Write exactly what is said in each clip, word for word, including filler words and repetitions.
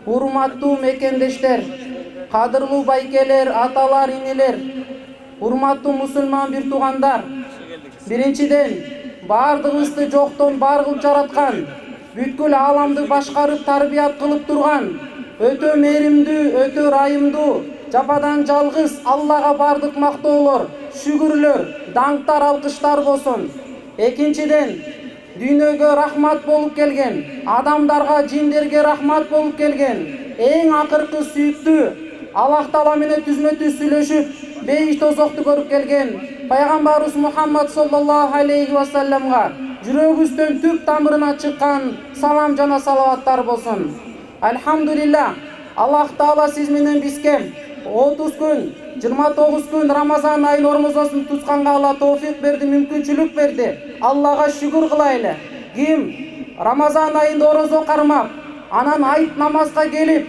Урматтуу мекендештер, кадырлуу байкелер, аталар, инелер, урматтуу мусулман бир туугандар. Биринчиден, бардыгыбызды жоктон бар кылып жараткан, бүткүл ааламды башкарып тарбият кылып турган, өтө мээримдүү, өтө ырайымдуу, жападан жалгыз Аллага бардык мактоолор, шүгүрлөр, даңктар, алкыштар болсун. Экинчиден, дүйнөгө рахмат болуп келген, адамдарга, жиндерге рахмат болуп келген, эң акыркы сүйүктүү, Аллах Таала менен түзмө-түз сүйлөшүп, бейиш тозокту көрүп келген пайгамбарыбыз Мухаммад саллаллаху алейхи ва салламга жүрөгүбүздөн түп тамырына чыккан салам жана салаваттар болсун. Альхамдулилlah, Аллах Таала сиз менен бизге отуз күн, жыйырма тогуз күн Рамазан айын ормозосун тутканга Алла тоофик берди, мүмкүнчүлүк берди. Аллага шүгүр кылайлы. Ким Рамазан айында орозо кармап, анан айт намазга келип,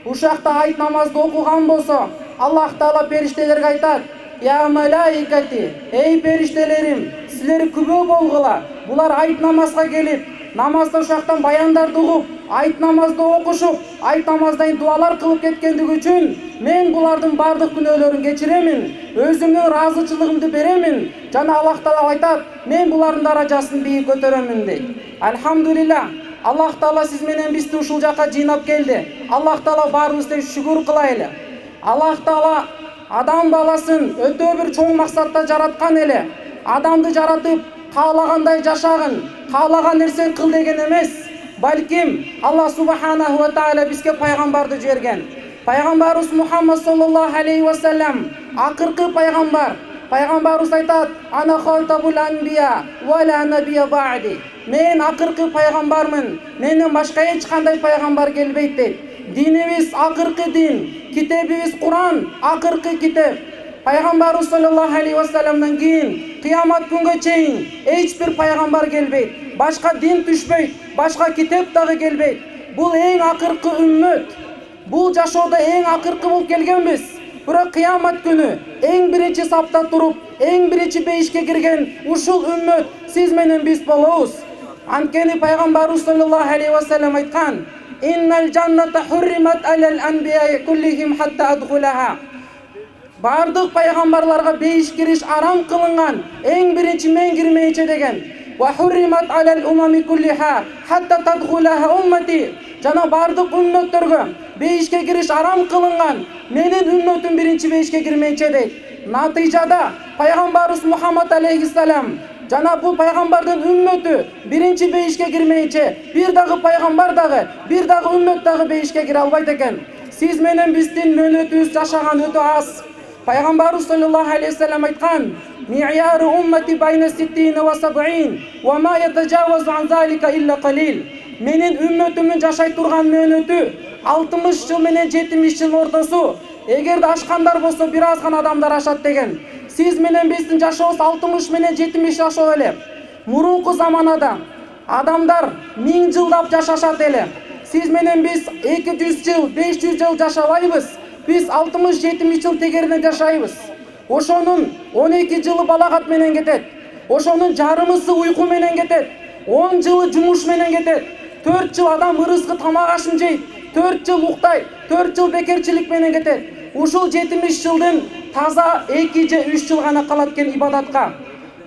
ушакта айт намазды окуган болсо, Аллах Таала периштелерге айтат: "Я малаикати, эй периштелерим, силер күбө болгула. Булар айт намазга келип, намазда ушактан баяндарды угуп, айт намазды окушуп, айт намаздан дуалар кылып кеткендиги үчүн мен булардын бардык күнөөлөрүн кечиремин, өзүмдүн ыраазычылыгымды беремин." Жана Аллах Таала айтат: "Мен булардын даражасын бийик көтөрөмүн" дейт. Альхамдулилlah, Аллах Таала сиз менен бизди ушул жака жыйнап келди. Аллах Таала баарыбызды шүгүр кылайлы. Аллах Таала адам баласын өтө бир чоң максатта жараткан эле. Адамды жаратып, каалагандай жашагын, каалаган нерсени кыл деген эмес. Балким Аллах субханаху ва таала бизге пайгамбарды жиберген. Пайгамбарыбыз Мухаммад саллаллаху алейхи ва саллам акыркы пайгамбар. Пайгамбарыбыз айтат: "Ана хатабул анбия ва ла набия ба'ди." Мен акыркы пайгамбармын, менден башка эч кандай пайгамбар келбейт дейт. Динибиз акыркы дин, китебибиз Куран акыркы китеп. Пайгамбарыбыз саллаллаху алейхи ва салламдан кийин кыямат күнгө чейин эч бир пайгамбар келбейт, башка дин түшпөйт, башка китеп дагы келбейт. Бул эң акыркы үммөт. Бул жашоодо эң акыркы болуп келгенбиз. Бирок кыямат күнү эң биринчи сапта туруп, эң биринчи бейишке кирген ушул үммөт сиз менен биз болобуз. Анткени пайгамбарыбыз саллаллаху алейхи ва саллам айткан: "Иннал жанната хурримат алал анбияи куллихим хатта адхулаха." Бардык пайгамбарларга бейиш кириш арам кылынган, эң биринчи мен кирмейинче деген. "Ва хурримат алал умами куллиха хатта тадхулаха уммати." Жана бардык үммөттөргө бейишке кириш арам кылынган, менин үммөтүм биринчи бейишке кирмейинче дейт. Натыйжада пайгамбарыбыз Мухаммад алейхиссалам жана бул пайгамбардын үммөтү биринчи бейишке кирмейинче бир дагы пайгамбар дагы, бир дагы үммөт дагы бейишке кире албайт экен. Сиз менен биздин мөөнөтүбүз жашаган өтө аз. Пайгамбарыбыз саллаллаху алейхи ва саллам айткан: "Ми'яру уммати байна ситтина ва саб'ин ва ма ятажавазу ан залика илля қалил." Менин үммөтүмдүн жашай турган мөөнөтү алтымыш жыл менен жетимиш жыл ортосу. Эгерде ашкандар болсо бир аз гана адамдар ашат деген. Сиз менен биздин жашообуз алтымыш менен жетимиш жашоо эле. Мурунку заманада адамдар миң жылдап жашашат эле. Сиз менен биз эки жүз жыл, беш жүз жыл жашабайбыз. Биз алтымыш жетимиш жыл тегеринен жашайбыз. Ошонун он эки жылы балагат менен кетет. Ошонун жарымысы уйку менен кетет. он жылы жумуш менен кетет. төрт жыл адам ырыскы тамак ашын жейт. төрт жыл уктайт. төрт жыл бекерчилик менен кетет. Ушул жетимиш жылдын таза эки же үч жыл гана калат экен ибадатка.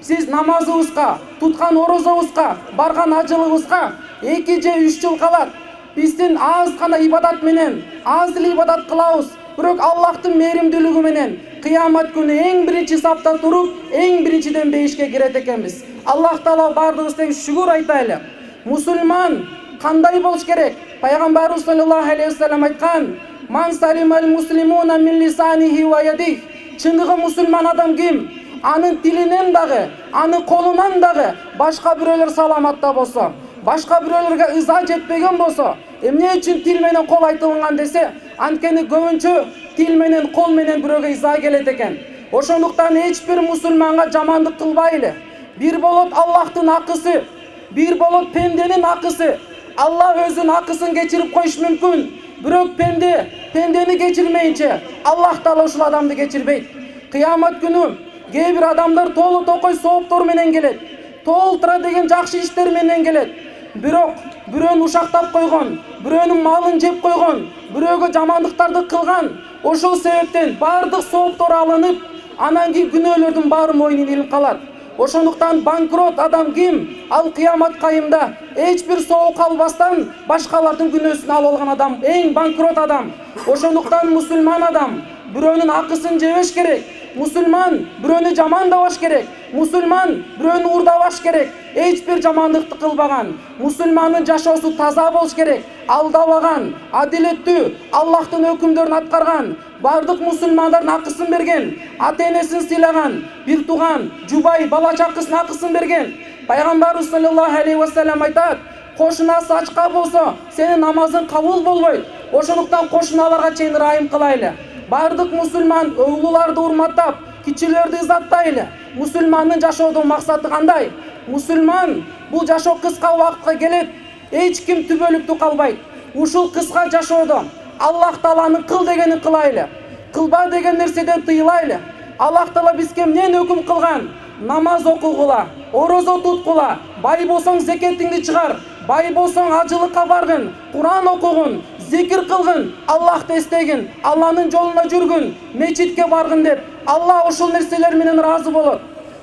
Сиз намазыбызга, туткан орозобузга, барган ажылыбызга эки же үч жыл калат. Биздин аз гана ибадат менен, аз эле ибадат кылабыз. Бирок Аллахтын мээримдүүлүгү менен кыямат күнү эң биринчи сапта туруп, эң биринчиден бейишке кирет экенбиз. Аллах Таала бардыгыбыз тең шүгүр айтайлы. Мусулман кандай болуш керек? Пайгамбарыбыз саллаллаху алейхи ва саллам айткан: "Ман салимал муслимуна мин лисанихи ва ядих." Чындыгы мусулман адам ким? Анын тилинен дагы, анын колунан дагы башка бирөөлөр саламатта болсо, башка бирөөлөргө ыза жетпеген болсо, эмне үчүн тил менен кол айтылган десе, анткени көбүнчө тил менен кол менен бирөөгө ыза келет экен. Ошондуктан эч бир мусулманга жамандык кылбайлы. Бир болот Аллахтын акысы, бир болот пенденин акысы. Аллах өзүнүн акысын кечирип коюш мүмкүн. Бирок пенде пендени кечирмейинче Аллах Таала ушул адамды кечирбейт. Кыямат күнү кээ бир адамдар толу токой сооптор менен келет. Толтура деген жакшы иштер менен келет. Бирок бирөөнү ушактап койгон, бирөөнүн малын жеп койгон, бирөөгө жамандыктарды кылган. Ошол себептен бардык сооптор алынып, анан кийин күнөөлөрдүн баары мойнуна илинип калат. Ошондуктан банкрот адам ким? Ал кыямат кайымда эч бир соо калбастан башкалардын күнөөсүн алып алган адам эң банкрот адам. Ошондуктан мусулман адам бирөөнүн акысын жебеш керек. Мусулман бирөөнү жамандабаш керек. Мусулман бирөөнү уурдабаш керек. Эч бир жамандыкты кылбаган. Мусулмандын жашоосу таза болуш керек. Алдабаган, адилеттүү, Аллахтын өкүмдөрүн аткарган, бардык мусулмандардын акысын берген, ата-энесин сыйлаган, бир тууган, жубай, бала чакысынын акысын берген. Пайгамбарыбыз саллаллаху алейхи ва саллям айтат: кошунасы ачка болсо, сенин намазың кабыл болбойт. Ошондуктан кошуналарга чейин ырайым кылайлы. Бардык мусулман өглүүлөрдү урматтап, кичилерди изаттайлы. Мусулмандын жашоодун максаты кандай? Мусулман бул жашоо кыска убакытка келет. Эч ким түбөлүктүү калбайт. Ушул кыска жашоодо Аллах Тааланын кыл дегенин кылайлы. Кылба деген нерседен тыйылайлы. Аллах Таала бизге эмнени өкүм кылган? Намаз окугула, орозо туткула, бай болсоң зекетиңди чыгар, бай болсоң ажылыкка баргын, Куран окугун, зикир кылгын, Аллахты эстегин, Алланын жолуна жүргүн, мечитке баргын деп. Алла ошол нерселер менен ыраазы болот.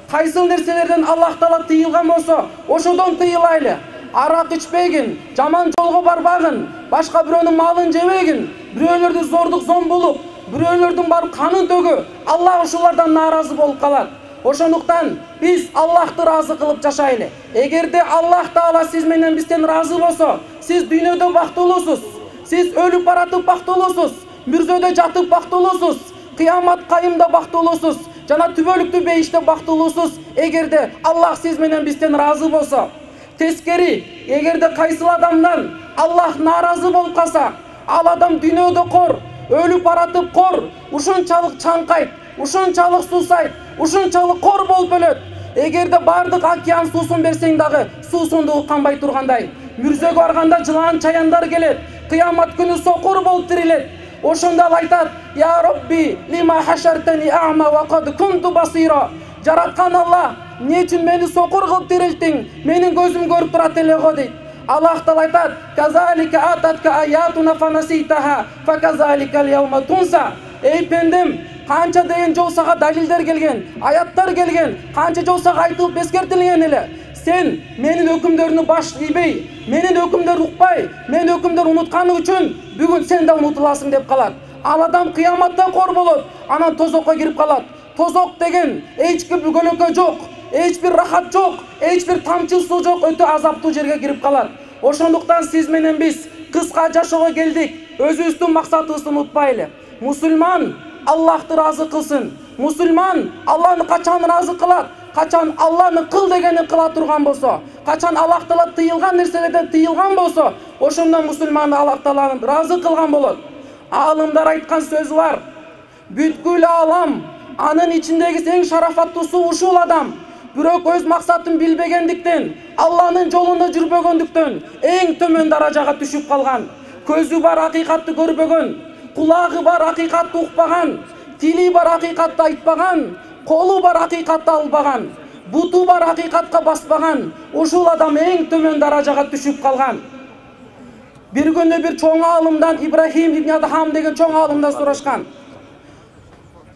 Кайсыл нерселерден Аллах Таала тыйылган болсо, ошодон тыйылайлы. Арак ичпегин, жаман жолго барбагын, башка бирөөнүн малын жебегин, бирөөлөрдү зордук зомбулуп, бирөөлөрдүн барып канын төгү. Аллах ошолордон нааразы болуп калат. Ошондуктан биз Аллахты ыраазы кылып жашайлы. Эгерде Аллах Таала сиз менен бизден ыраазы болсо, сиз дүйнөдө бактылуусуз, сиз өлүп баратып бактылуусуз, мүрзөдө жатып бактылуусуз, кыямат кайымда бактылуусуз, жана түбөлүктүү бейиште бактылуусуз. Эгерде Аллах сиз менен бизден ыраазы болсо, тескери, эгерде кайсыл адамдан Аллах нааразы болуп калса, ал адам дүйнөдө кор, өлүп баратып кор, ушунчалык чаңкайт, ушунчалык суусайт, ушунчалык кор болуп өлөт. Эгерде бардык океан суусун берсең дагы суусундугу канбай тургандай, мүрзөгө барганда жылан чаяндар келет, кыямат күнү сокур болуп тирилет. Ошондо ал айтат: "Я Робби, лима хашартани а'ма ва кад кунту басира." Жараткан Алла, эмне үчүн мени сокур кылып тирилтиң? Менин көзүм көрүп турат эле го дейт. Аллах Таала айтат: "Казалика ататка аятуна фанаситаха, факазалика ал-яума тунса." Эй пендем, канча деген жол сага далилдер келген, аяттар келген, канча жол сага айтылып эскертилген эле. Сен менин өкүмдөрүмдү баш ийбей, менин өкүмдөрүмдү укпай, менин өкүмдөрүмдү унутканы үчүн бүгүн сен да унутуласың деп калат. Ал адам кыяматта кор болот, анан тозокко кирип калат. Тозок деген эч бир көлөкө жок, эч бир рахат жок, эч бир тамчы суу жок, өтө азаптуу жерге кирип калат. Ошондуктан сиз менен биз кыска жашоого келдик. Өзүбүздүн максатыбызды унутпайлы. Мусулман Аллахты ыраазы кылсын. Мусулман Алланы качан ыраазы кылат? Качан Алланын кыл дегенин кыла турган болсо, качан Аллах Таала тыйылган нерселерден тыйылган болсо, ошондо мусулман Аллах Тааланы ыраазы кылган болот. Аалымдар айткан сөзү бар: бүткүл аалам, анын ичиндеги эң шарафаттуусу ушул адам. Бирок өз максатын билбегендиктен, Алланын жолунда жүрбөгөндүктөн эң төмөн даражага түшүп калган. Көзү бар, акыйкатты көрбөгөн, кулагы бар, акыйкатты укпаган, тили бар, акыйкатты айтпаган, колу бар, акыйкатты албаган, буту бар, акыйкатка баспаган. Ушул адам эң төмөн даражага түшүп калган. Бир күнү бир чоң аалымдан, Ибрахим ибн Адхам деген чоң аалымдан сурашкан: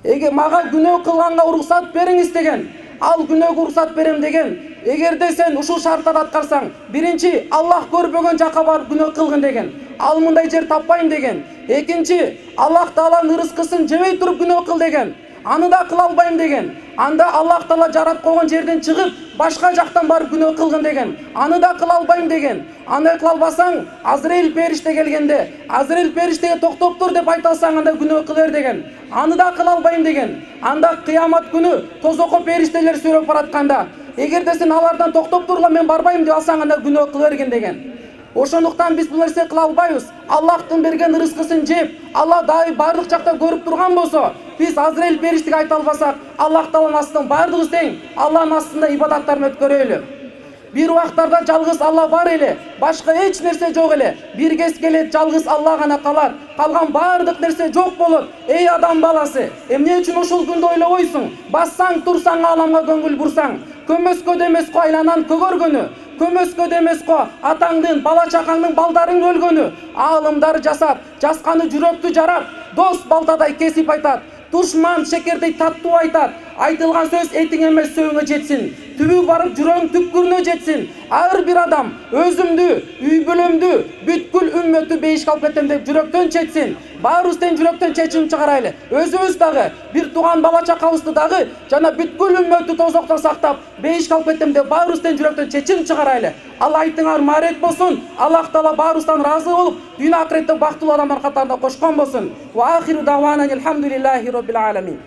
"Эге мага күнөө кылганга уруксат бериңиз" деген. Ал күнөөгө уруксат берем деген. Эгерде сен ушул шарттарды аткарсаң, биринчи Аллах көрбөгөн жакка барып күнөө кылгын деген. Ал мындай жер таппайм деген. Экинчи, Аллах Тааланын рызкысын жебей туруп күнөө кыл деген. Аны да кыла албайм деген. Анда Аллах Таала жаратып койгон жерден чыгып, башка жактан барып күнөө кылгын деген. Аны да кыла албайм деген. Аны кыла албасаң, Азраил периште келгенде, Азраил периштеге токтоп тур деп айта алсаң, анда күнөө кылыр деген. Аны да кыла албайм деген. Анда кыямат күнү тозокко периштелер сүрөп баратканда, эгерде сен алардан токтоп турла, мен барбайм деп алсаң, анда күнөө кыла берген деген. Ошондуктан биз бул нерсе кыла албайбыз. Аллахтын берген рызкысын жеп, Алла дайым бардык жакта көрүп турган болсо, биз Азраил периштеге айта албасак, Аллах Тааланын астынан бардыгыбыз тең, Алланын астында ибадаттарын өткөрөлү. Бир убактарда жалгыз Алла бар эле, башка эч нерсе жок эле. Бир кез келет, жалгыз Алла гана калат. Калган бардык нерсе жок болот. Эй адам баласы, эмне үчүн ушул күндү ойлобойсуң? Бассаң, турсаң, ааламга көңүл бурсаң, көмөскө демеско айланан көгөргөнү, көмөскөдө эмес го атаңдын, бала чакаңдын, балдарыңдын өлгөнү. Аалымдар жасап, жасканы жүрөктү жарат, дос балтадай кесип айтат, душман шекердей таттуу айтат. Айтылган сөз этиң эмес сөөгүңө жетсин, түбү барып жүрөң түпкүрүнө жетсин. Ар бир адам өзүмдү, үй бүлөмдү, бүткүл үммөттү бейишке алып кетем деп жүрөктөн чечсин. Баарыбыз тең жүрөктөн чечим чыгарайлы. Өзүбүз дагы, бир тууган бала чакабызды дагы жана бүткүл үммөттү тозоктон сактап, бейишке алып кетем деп баарыбыз тең жүрөктөн чечим чыгарайлы. Алла айтыңар маарет болсун. Аллах таала баарыбыздан ыраазы болуп, дүйнө акыретте бактылуу адамдар катарында кошкон болсун. Ва ахиру давана алхамдулиллахи роббил аламин.